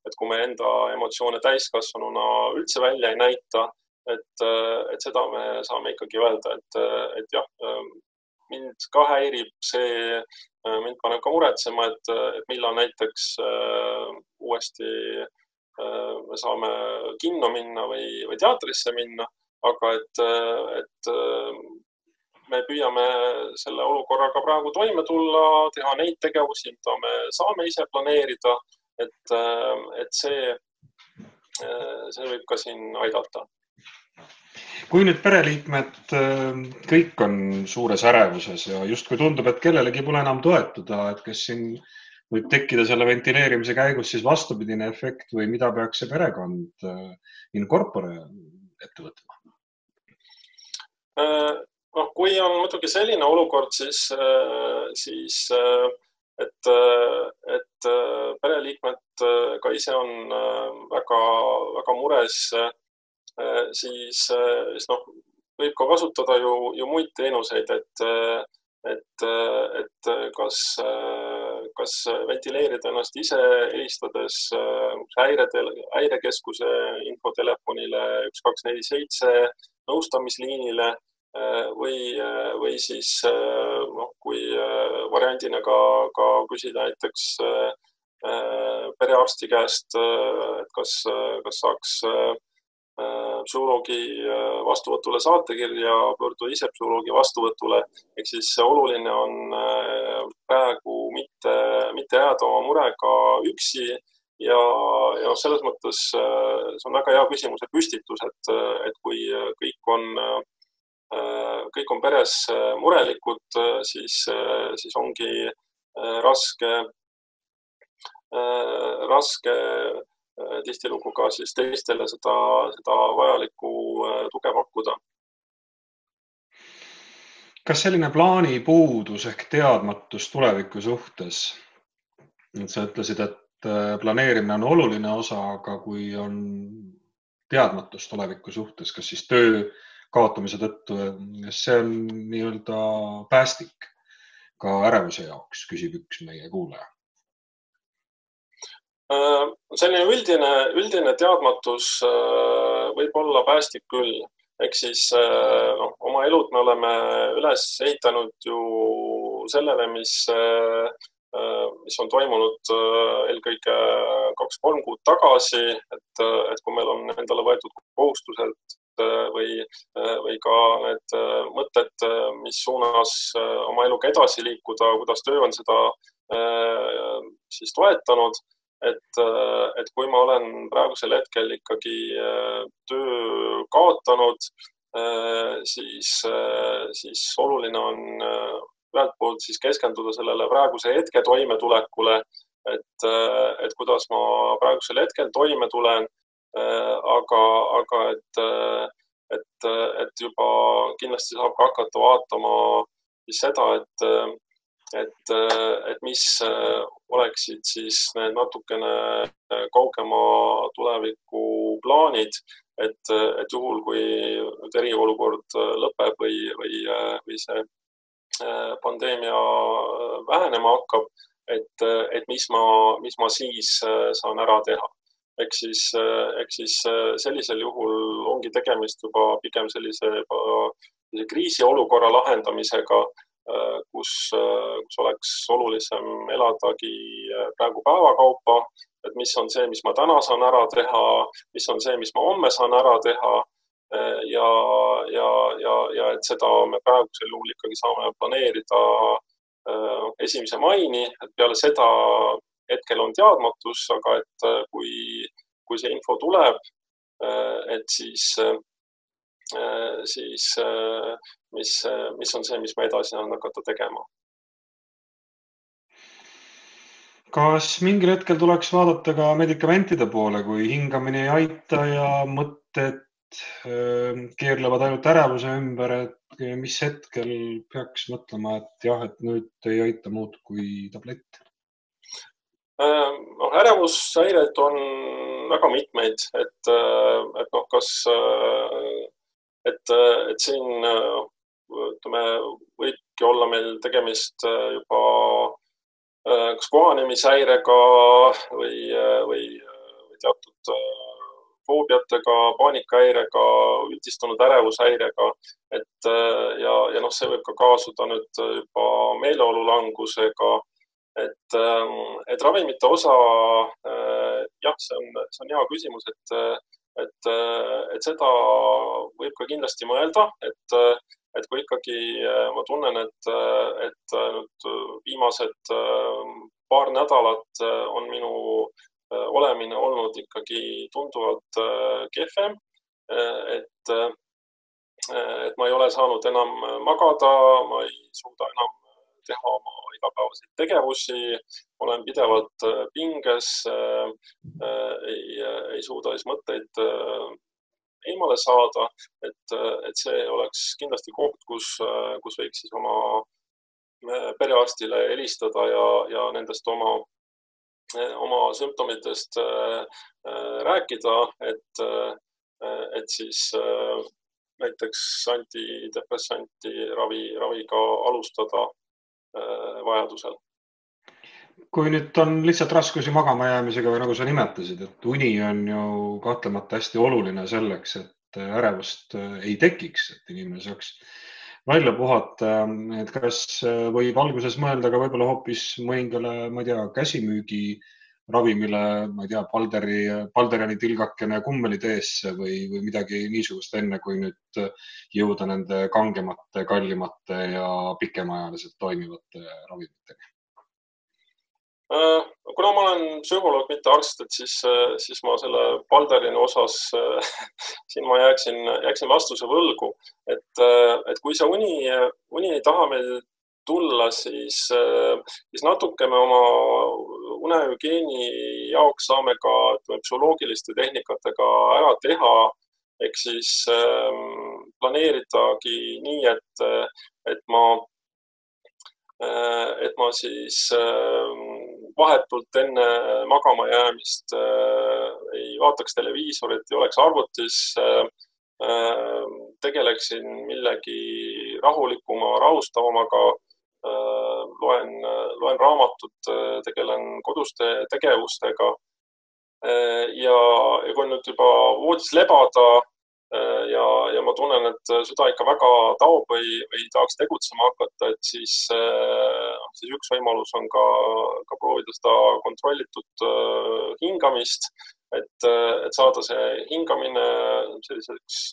et kui me enda emotsioone täiskasvanuna üldse välja ei näita, et, et seda me saame ikkagi öelda, et, et jah, mind ka häirib see, mind paneb ka muretsema, et, et millal näiteks uuesti me saame kinno minna või, või teatrisse minna, aga et, et me püüame selle olukorraga praegu toime tulla, teha neid tegevusi, mida me saame ise planeerida, et, et see, see võib ka siin aidata. Kui nüüd pereliikmed kõik on suures ärevuses ja justkui tundub, et kellelegi pole enam toetuda, et kes siin võib tekkida selle ventileerimise käigus siis vastupidine efekt või mida peaks see perekond in corpore ette võtma? No, kui on muidugi selline olukord, siis, siis et, et pereliikmed ka ise on väga, väga mures, siis, siis noh, võib ka kasutada ju, ju muid teenuseid, et, et, et kas, kas ventileerida ennast ise helistades häirekeskuse infotelefonile üks kaks neli seitse nõustamisliinile või, või siis noh, kui variandina ka, ka küsida näiteks perearsti käest, et kas, kas saaks psühholoogi vastuvõtule saatekirja, pöörduda ise psühholoogi vastuvõtule. Ehk siis oluline on praegu mitte, mitte jääda oma murega üksi ja, ja selles mõttes see on väga hea küsimuse püstitus, et, et kui kõik on, kõik on peres murelikud, siis, siis ongi raske, raske tihtilugu ka siis teistele seda, seda vajalikku tuge pakkuda. Kas selline plaani puudus ehk teadmatus tuleviku suhtes? Sa ütlesid, et planeerimine on oluline osa, aga kui on teadmatus tuleviku suhtes, kas siis töö kaotamise tõttu, see on nii-öelda päästik ka ärevuse jaoks, küsib üks meie kuulaja. Selline üldine, üldine teadmatus võib olla päästik küll. Ehk siis no, oma elud me oleme üles ehitanud ju sellele, mis, mis on toimunud eelkõige kaks-kolm kuud tagasi, et, et kui meil on endale võetud kohustused või, või ka need mõtted, mis suunas oma eluga edasi liikuda, kuidas töö on seda siis toetanud. Et, et kui ma olen praegusel hetkel ikkagi töö kaotanud, siis, siis oluline on ühelt poolt siis keskenduda sellele praeguse hetke toimetulekule, et, et kuidas ma praegusel hetkel toime tulen, aga, aga et, et, et juba kindlasti saab ka hakata vaatama siis seda, et Et, et mis oleksid siis need natukene kaugema tuleviku plaanid, et, et juhul, kui eriolukord lõpeb või, või, või see pandeemia vähenema hakkab, et, et mis ma, mis ma siis saan ära teha. Ehk siis, ehk siis sellisel juhul ongi tegemist juba pigem sellise juba kriisiolukorra lahendamisega, Kus, kus oleks olulisem eladagi praegu päevakaupa, et mis on see, mis ma täna saan ära teha, mis on see, mis ma homme saan ära teha ja, ja, ja, ja et seda me praegusel juhul ikkagi saame planeerida esimese maini, et peale seda hetkel on teadmatus, aga et kui, kui see info tuleb, et siis siis mis, mis on see, mis ma edasi saan hakata tegema. Kas mingil hetkel tuleks vaadata ka medikamentide poole, kui hingamine ei aita ja mõtted keerlevad ainult ärevuse ümber, et mis hetkel peaks mõtlema, et jah, et nüüd ei aita muud kui tablett? No, ärevushäired on väga mitmeid, et, et noh, kas Et, et siin ütleme, võibki olla meil tegemist juba kas kohanemishäirega või, või, või teatud foobiatega, paanikahäirega, üldistunud ärevushäirega. Et, ja, ja noh, see võib ka kaasuda nüüd juba meeleolulangusega. Et, et ravimite osa, jah, see on, see on hea küsimus, et Et, et seda võib ka kindlasti mõelda, et, et kui ikkagi ma tunnen, et, et nüüd viimased paar nädalat on minu olemine olnud ikkagi tunduvalt kehvem, et, et ma ei ole saanud enam magada, ma ei suuda enam teha oma igapäevaseid tegevusi, olen pidevalt pinges, ei, ei suuda siis mõtteid eemale saada, et, et see oleks kindlasti koht, kus, kus võiks siis oma perearstile helistada ja, ja nendest oma, oma sümptomitest rääkida, et, et siis näiteks antidepressanti ravi, raviga alustada vajadusel. Kui nüüd on lihtsalt raskusi magama jäämisega või nagu sa nimetasid, et uni on ju kahtlemata hästi oluline selleks, et ärevust ei tekiks, et inimene saaks välja puhata, et kas võib alguses mõelda ka võib-olla hoopis mõningale, ma ei tea, käsimüügi ravimile, ma ei tea, Balderi, Balderani tilgakene kummeliteesse või, või midagi niisugust enne, kui nüüd jõuda nende kangemate, kallimate ja pikemaajaliselt toimivate ravimitega? Kuna ma olen psühholoog, mitte arst, et siis, siis ma selle Balderini osas siin ma jääksin, jääksin vastuse võlgu, et, et kui see uni, uni ei taha meil tulla, siis, siis natuke me oma unehügieeni jaoks saame ka psühholoogiliste tehnikatega ära teha, ehk siis planeeridagi nii, et, et ma et ma siis vahetult enne magama jäämist ei vaataks televiisorit, ei oleks arvutis, tegeleksin millegi rahulikuma, rahustavamaga, loen, loen raamatut, tegelen koduste tegevustega ja, ja kui nüüd juba voodis lebada ja, ja ma tunnen, et süda ikka väga taob või, või tahaks tegutsema hakata, et siis, siis üks võimalus on ka, ka proovida seda kontrollitud hingamist, et, et saada see hingamine selliseks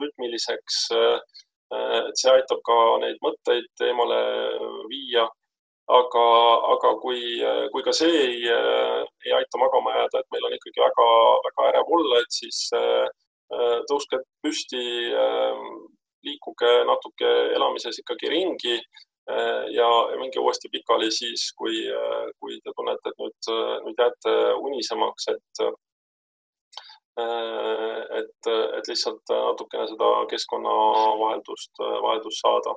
rütmiliseks, et see aitab ka neid mõtteid eemale viia. Aga, aga kui, kui ka see ei, ei aita magama jääda, et meil on ikkagi väga, väga ärev olla, et siis tõuske püsti, liikuge natuke elamises ikkagi ringi ja minge uuesti pikali siis, kui, kui te tunnete, et nüüd, nüüd jääte unisemaks, et, et, et lihtsalt natukene seda keskkonnavaheldust, vaheldust saada.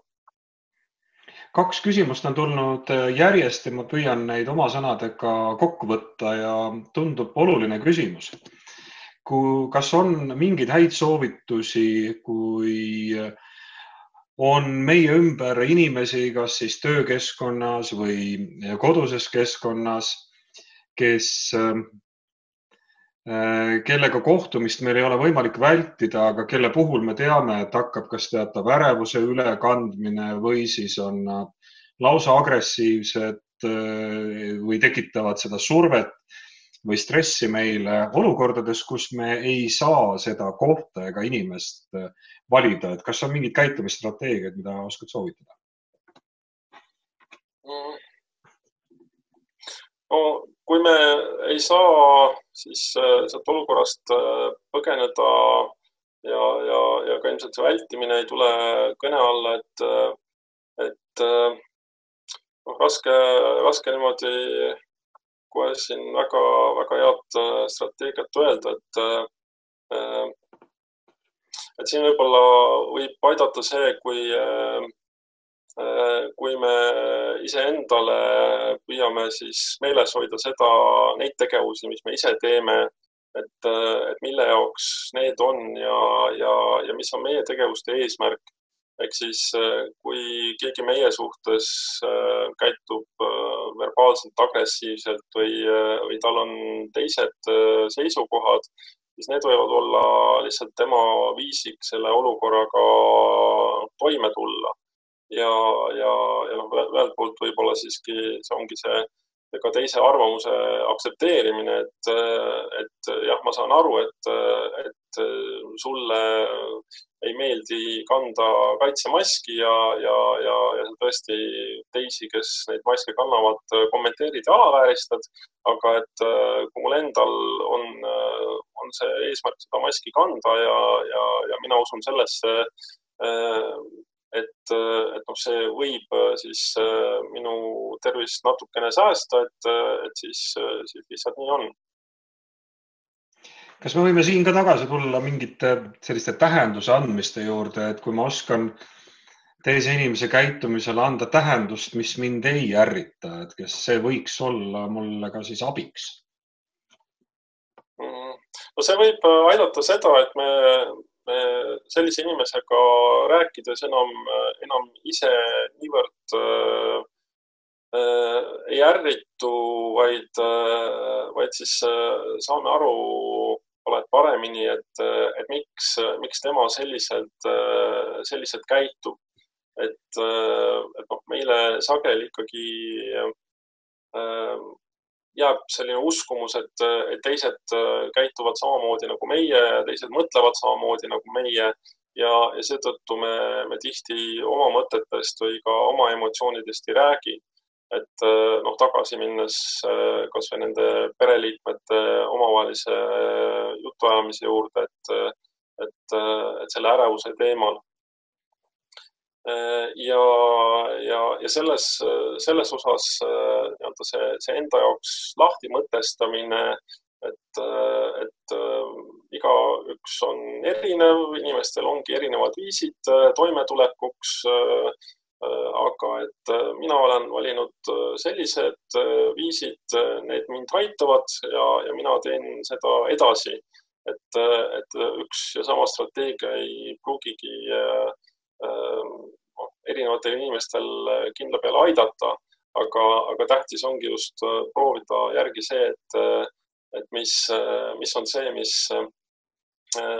Kaks küsimust on tulnud järjest ja ma püüan neid oma sõnadega kokku võtta ja tundub oluline küsimus. Kui, kas on mingeid häid soovitusi, kui on meie ümber inimesi, kas siis töökeskkonnas või koduses keskkonnas, kes, kellega kohtumist meil ei ole võimalik vältida, aga kelle puhul me teame, et hakkab kas teatav ärevuse ülekandmine või siis on lausa agressiivsed või tekitavad seda survet või stressi meile olukordades, kus me ei saa seda kohta ega inimest valida, et kas on mingid käitumisstrateegiad, mida oskad soovitada? No, kui me ei saa siis sealt olukorrast põgeneda ja, ja, ja ka ilmselt see vältimine ei tule kõne alla, et, et no, raske, raske niimoodi kohe siin väga, väga head strateegiat öelda, et, et siin võib-olla võib aidata see, kui, kui me iseendale püüame siis meeles hoida seda, neid tegevusi, mis me ise teeme, et, et mille jaoks need on ja, ja, ja mis on meie tegevuste eesmärk. Ehk siis, kui keegi meie suhtes käitub verbaalselt agressiivselt või, või tal on teised seisukohad, siis need võivad olla lihtsalt tema viisik selle olukorraga toime tulla. Ja, ja, ja noh, ühelt poolt võib-olla siiski see ongi see ka teise arvamuse aktsepteerimine, et, et jah, ma saan aru, et, et sulle ei meeldi kanda kaitsemaski ja, ja, ja, ja tõesti teisi, kes neid maske kannavad, kommenteerid ja alavääristad, aga et kui mul endal on, on see eesmärk seda maski kanda ja, ja, ja mina usun sellesse, et, et noh, see võib siis minu tervist natukene säästa, et, et siis, siis lihtsalt nii on. Kas me võime siin ka tagasi tulla mingite selliste tähenduse andmiste juurde, et kui ma oskan teise inimese käitumisele anda tähendust, mis mind ei ärrita, et kes see võiks olla mulle ka siis abiks? No see võib aidata seda, et me, me sellise inimesega rääkides enam, enam ise niivõrd äh, ei ärritu, vaid, vaid siis saame aru oled paremini, et, et miks, miks tema selliselt, selliselt käitub. Et, et noh, meile sageli ikkagi jääb selline uskumus, et, et teised käituvad samamoodi nagu meie, teised mõtlevad samamoodi nagu meie ja, ja seetõttu me, me tihti oma mõtetest või ka oma emotsioonidest ei räägi. Et noh, tagasi minnes kas või nende pereliikmete omavahelise jutuajamise juurde, et, et, et selle ärevuse teemal. Ja, ja, ja selles, selles osas see, see enda jaoks lahti mõtestamine, et, et iga üks on erinev, inimestel ongi erinevad viisid toimetulekuks, aga et mina olen valinud sellised viisid, need mind aitavad ja, ja mina teen seda edasi. Et, et üks ja sama strateegia ei pruugigi äh, erinevatel inimestel kindla peale aidata, aga, aga tähtis ongi just proovida järgi see, et, et mis, mis on see, mis,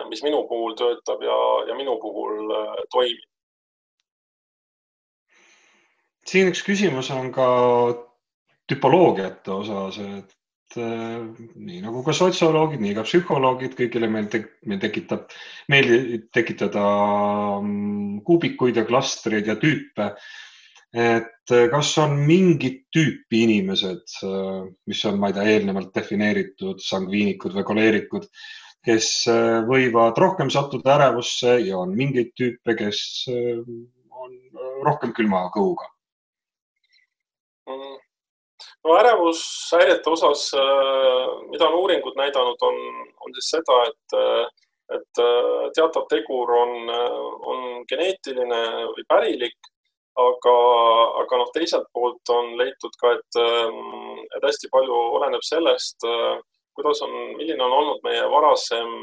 mis minu puhul töötab ja, ja minu puhul toimib. Siin üks küsimus on ka tüpoloogiate osas, et nii nagu ka sotsioloogid, nii ka psühholoogid, kõigile meil, te, meil tekitab, meil tekitada kuubikuid ja klastreid ja tüüpe. Et kas on mingid tüüpi inimesed, mis on, ma ei tea, eelnevalt defineeritud sangviinikud või koleerikud, kes võivad rohkem sattuda ärevusse ja on mingeid tüüpe, kes on rohkem külma kõhuga? No ärevushäirete osas, mida on uuringud näidanud, on, on siis seda, et, et teatav tegur on, on geneetiline või pärilik, aga, aga noh, teiselt poolt on leitud ka, et, et hästi palju oleneb sellest, kuidas on, milline on olnud meie varasem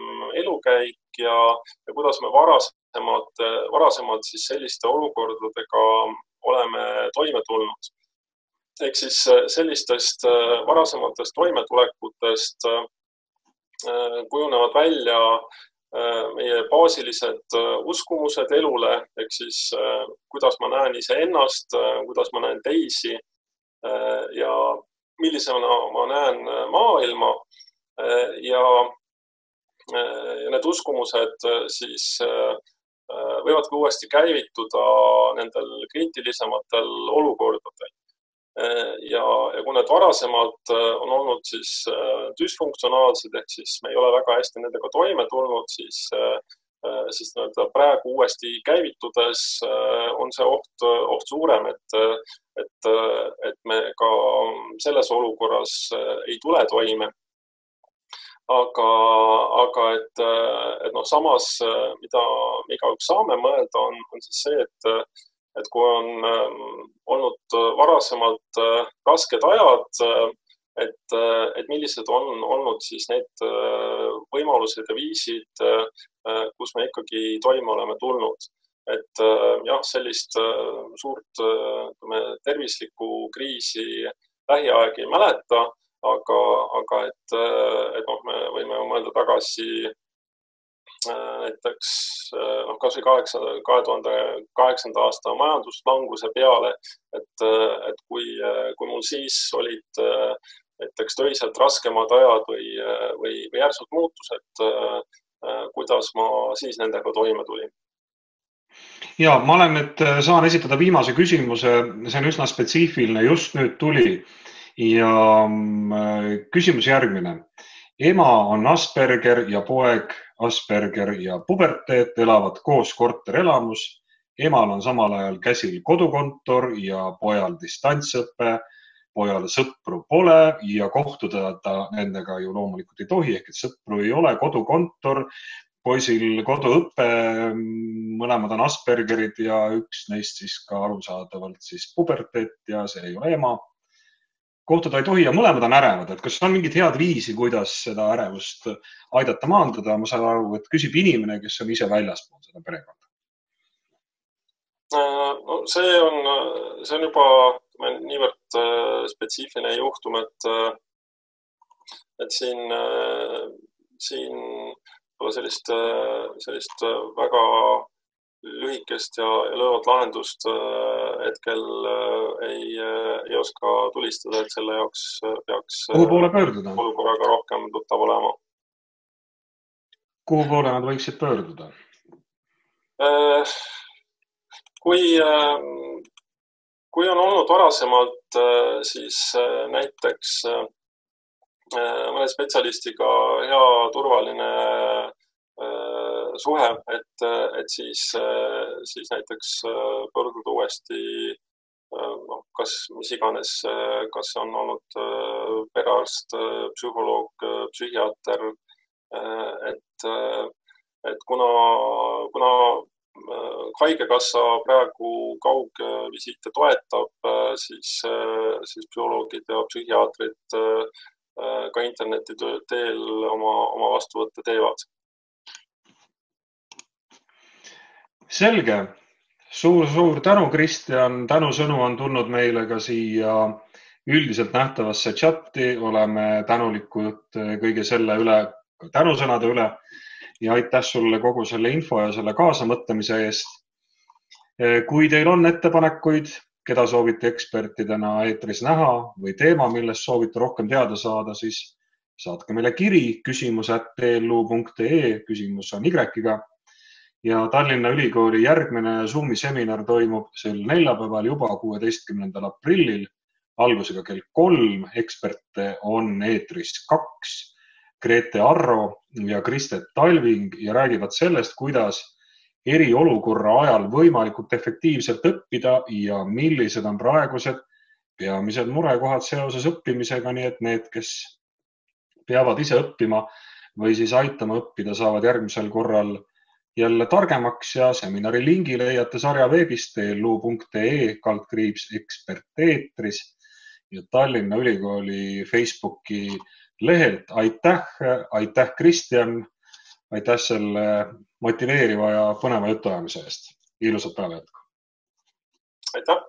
elukäik ja, ja kuidas me varasemad, varasemad siis selliste olukordadega oleme toime tulnud. Ehk siis sellistest varasematest toimetulekutest kujunevad välja meie baasilised uskumused elule, ehk siis kuidas ma näen iseennast, kuidas ma näen teisi ja millisena ma näen maailma ja, ja need uskumused siis võivad ka uuesti käivituda nendel kriitilisematel olukordadel. Ja, ja kui need varasemalt on olnud siis düsfunktsionaalsed, ehk siis me ei ole väga hästi nendega toime tulnud, siis, siis praegu uuesti käivitudes on see oht, oht suurem, et, et, et me ka selles olukorras ei tule toime. Aga, aga et, et noh, samas, mida me igaüks saame mõelda, on, on siis see, et et kui on olnud varasemalt rasked ajad, et, et millised on olnud siis need võimalused ja viisid, kus me ikkagi toime oleme tulnud. Et jah, sellist suurt tervislikku kriisi lähiaeg ei mäleta, aga, aga et, et noh, me võime mõelda tagasi näiteks noh, kas või kahe tuhande kaheksanda aasta majanduslanguse peale, et, et kui, kui mul siis olid näiteks töiselt raskemad ajad või, või, või järsud muutused, kuidas ma siis nendega toime tulin? Ja, ma olen nüüd, saan esitada viimase küsimuse, see on üsna spetsiifiline, just nüüd tuli ja küsimus järgmine. Ema on Asperger ja poeg Asperger ja puberteet elavad koos korterelamus. Emal on samal ajal käsil kodukontor ja pojal distantsõpe. pojale sõpru pole ja kohtuda ta nendega ju loomulikult ei tohi, ehk et sõpru ei ole, kodukontor, poisil koduõppe, mõlemad on Aspergerid ja üks neist siis ka arusaadavalt siis puberteet ja see ei ole ema. Kohtuda ei tohi ja mõlemad on ärevad, et kas on mingid head viisi, kuidas seda ärevust aidata maandada? Ma saan aru, et küsib inimene, kes on ise väljaspool seda perekonda. No, see on, see on juba niivõrd spetsiifiline juhtum, et, et siin, siin sellist, sellist väga lühikest ja löövat lahendust hetkel ei, ei oska tulistada, et selle jaoks peaks kuhu poole pöörduda? Olukorraga rohkem tuttav olema. Kuhu poole nad võiksid pöörduda? Kui, kui on olnud varasemalt, siis näiteks mõne spetsialistiga hea turvaline suhe, et, et siis, siis näiteks pöörduda uuesti, no, kas mis iganes, kas on olnud perearst, psühholoog, psühhiaater, et, et kuna, kuna haigekassa praegu kaugvisiite toetab, siis, siis psühholoogid ja psühhiaatrid ka interneti teel oma, oma vastuvõtte teevad. Selge. Suur, suur tänu, Kristjan. Tänu sõnu on tulnud meile ka siia üldiselt nähtavasse chatti. Oleme tänulikud kõige selle üle, tänusõnade üle ja aitäh sulle kogu selle info ja selle kaasamõtlemise eest. Kui teil on ettepanekuid, keda soovite ekspertidena eetris näha või teema, millest soovite rohkem teada saada, siis saatke meile kiri küsimus at t l u punkt e, küsimus on Y-ga. Ja Tallinna Ülikooli järgmine Zoomi seminar toimub sel neljapäeval juba kuueteistkümnendal aprillil, algusega kell kolm. Eksperte on eetris kaks, Grete Arro ja Kristet Talving ja räägivad sellest, kuidas eriolukorra ajal võimalikult efektiivselt õppida ja millised on praegused peamised murekohad seoses õppimisega, nii et need, kes peavad ise õppima või siis aitama õppida, saavad järgmisel korral jälle targemaks ja seminari lingi leiate sarja veebist t l u punkt e kaldkriips ekspert eetris ja Tallinna Ülikooli Facebooki lehelt. Aitäh, aitäh Kristjan, aitäh selle motiveeriva ja põneva jutuajamise eest. Ilusat päeva jätku. Aitäh!